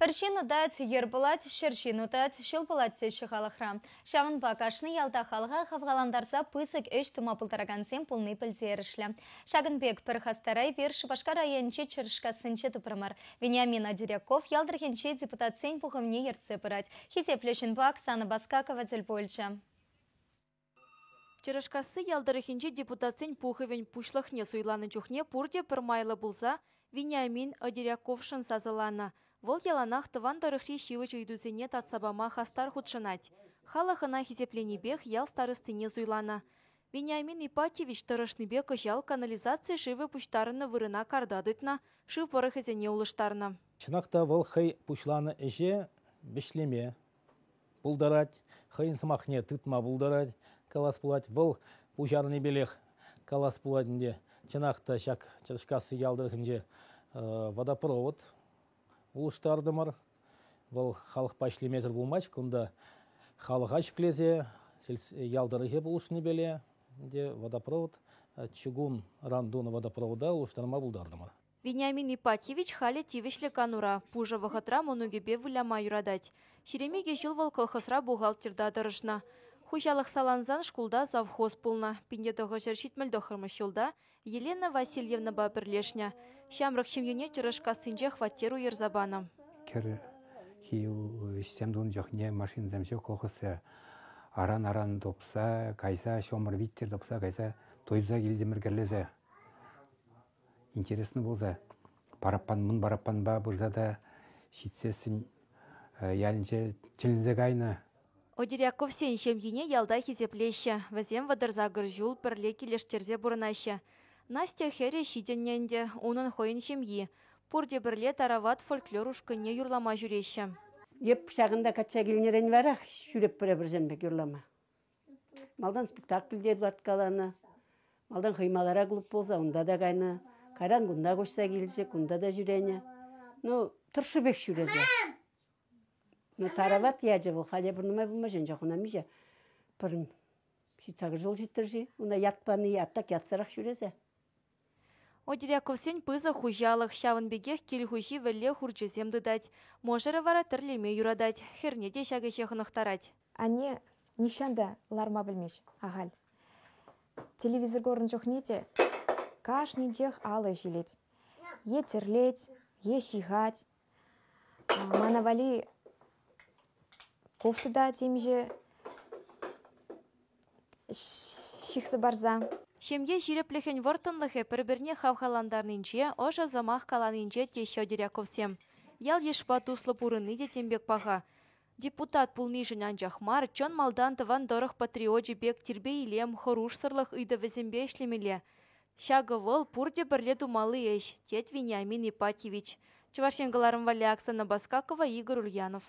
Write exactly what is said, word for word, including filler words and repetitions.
Пӗр ҫын утать, йӗр пулать, ҫӗр ҫын утать, ҫул пулать теҫҫӗ халӑхра. Ҫавӑнпа кашни ялта халӑха хавхалантарса пысӑк ӗҫ тума пултаракансем пулни пӗлтерӗшлӗ. Ҫакӑн пек пӗр хастара эпир Шупашкар районӗнчи Чӑрӑшкассинче тупрӑмӑр. Вениамин Одеряков ял тӑрӑхӗнчи депутатсен пухӑвне ертсе пырать. Хисеплӗ ҫынпа Оксана Баскакова тӗл пулчӗ. Чӑрӑшкасси ял тӑрӑхӗнчи депутатсен пухӑвӗн пуҫлӑхне суйланӑ чухне пурте пӗр майлӑ пулса Вениамин Одеряковшӑн сасӑланӑ. Вӑл яланах тӑван тӑрӑхри ҫивӗч ыйтусене татса пама хастар хутшӑнать. Халӑх ӑна хисепленипех ял старостине суйланӑ. Вениамин Ипатьевич тӑрӑшнипе кӑҫал канализаци шывӗ пуҫтарӑннӑ вырӑна карта тытнӑ, шыв пӑрӑхӗсене улӑштарнӑ. Чӑнах та вӑл хӑй пуҫланӑ ӗҫе вӗҫлеме пултарать, хӑйӗн сӑмахне тытма пултарать, калас пулать. Вӑл пуҫарнипелех калас пулать ӗнтӗ. Чӑнах та ҫак Чӑрӑшкасси ял тӑрӑхӗнче водопровод улӑштартӑмӑр. Вӑл халӑхпа ӗҫлемесӗр пулмасть. Кунта халӑха ҫӗклесе ял тӑрӑхӗ пулӑшнипеле водопровод, чугун ран тунӑ водопровода улӑштарма пултартӑмӑр. Вениамин Ипатьевич халӗ тивӗҫлӗ канура, пушӑ вӑхӑтра мӑнукӗпе выляма юратать. Ҫирӗм икӗ ҫул вӑл колхозра бухгалтерта тӑрӑшнӑ. Хуҫалӑх салансан шкулта завхоз пулнӑ. Пин те тӑхӑрҫӗр ҫитмӗл тӑххӑрмӗш ҫулта Елена Васильевнӑпа пӗрлешнӗ. Ҫамрӑк ҫемьене Чӑрӑшкассинче хваттер уйӑрса панӑ. Кӗрхи ӗҫсем тунӑ чухне машинӑсем ҫук колхозра. Аран-аран тупса кайса, ҫумӑр виттер тупса кайса туйса килтӗмӗр кӗрлесе. Интересно пулса. Параппан, мӑн параппанпа пырса та ҫитсессӗн ялӗнче тӗлӗнсе кайнӑ. Одеряковсен ҫемйине ялта хисеплеҫҫӗ. Вӗсем вӑтӑр сакӑр ҫул пӗрле килӗштерсе пурӑнаҫҫӗ. Настя хӗрӗ ҫитӗннӗ ӗнтӗ, унӑн хӑйӗн ҫемйи. Пурте пӗрле Тарават фольклор ушкӑнне юрлама ҫӳреҫҫӗ. Еп ҫакӑнта качча килнӗрен варах ҫӳреп пӗр-пӗрсем пек юрлама. Малтан спектакль те ларткаланӑ. Малтан хӑймалара клуб пулса унта та кайнӑ. Кайран кунта куҫса килчӗ, кунта та ҫӳренӗ. Ну, тӑршшӗпех ҫӳресе. Ну, Тарават ячӗ вӑл, халӗ пӗр нумай пулмасть, анчах ӑна миҫе пӗр ҫитсакӑр ҫул ҫиттӗр-ши, уна ят пани, ят так ятсӑрах ҫӳресе. Одеряковсен пысӑк хуҫалӑх, ҫавӑн пекех кил хуҫи вӗлле хурчӗсем тытать. Мӑшӑрӗ вара тӗрлеме юратать, хӗрне те ҫак ӗҫе хӑнӑхтарать. Анне нихҫан та ларма пӗлмест ахаль. Телевизор курнӑ чухне те кашнинчех алӑ ӗҫ илет. Е тӗрлет, е ҫыхать. Мана валли кофта та темиҫе ҫыхса парса. Ҫемье ҫирӗплӗхӗн вӑрттӑнлӑхӗ пӗр-пӗрне хавхалантарнинче, ӑшӑ сӑмах каланинче теҫҫӗ Одеряковсем. Ял-йышпа туслӑ пурӑнни те тем пек паха. Депутат пулнишӗн анчах мар, чӑн малтан тӑван тӑрӑх патриочӗ пек тирпей-илем, хӑрушсӑрлӑх ыйтӑвӗсемпе ӗҫлемелле. Ҫакӑ вӑл пурте пӗрле тумалли ӗҫ, тет Вениамин Ипатьевич. Чӑваш Ен кӑларӑм валли Оксана Баскакова, Игорь Ульянов.